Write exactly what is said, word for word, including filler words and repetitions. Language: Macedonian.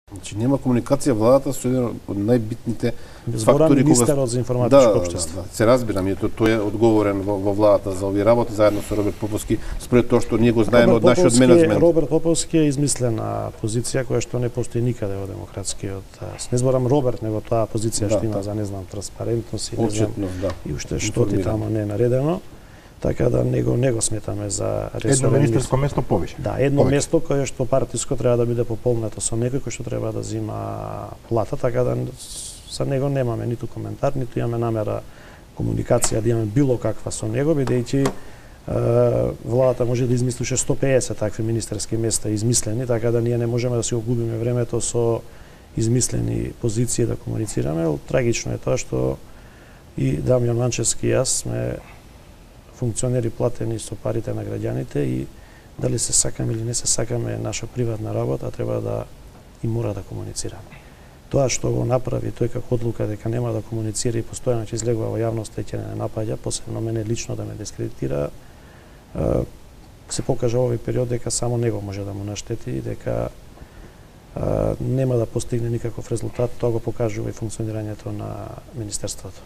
Значи нема комуникација владата со еден од најбитните Зборам фактори министерот за информатичко да, општество. Да, да, се разбирам, и то тој е одговорен во, во владата за овие работи заедно со Роберт Поповски, според тоа што ние го знаеме од нашиот менеджмент. Роберт Поповски е измислена позиција која што не постои никаде во демократскиот. Не зборам Роберт, него таа позиција да, што има да. за не знам транспарентност и не знам, да. и уште што ти тамо не е наредено. Така да него него сметаме за ресорен едно министерско место повише. Да, едно повише. место кое што партиско треба да биде пополнето со некој кој што треба да зима плата, така да за него немаме ниту коментар, ниту имаме намера комуникација да имаме било каква со него, бидејќи владата може да измисли уште сто пеесет такви министерски места измислени, така да ние не можеме да си го губиме времето со измислени позиции да комуницираме. Трагично е тоа што и Дамјан Манчевски и јас сме функционери платени со парите на граѓаните и дали се сакаме или не се сакаме наша приватна работа, треба да и мора да комуницираме. Тоа што го направи тој како одлука дека нема да комуницира и постојано ќе излегува во јавноста и ќе не напаѓа, посебно мене лично да ме дискредитира, се покажа овој период дека само него може да му наштети и дека нема да постигне никаков резултат. Тоа го покажува и функционирањето на министерството.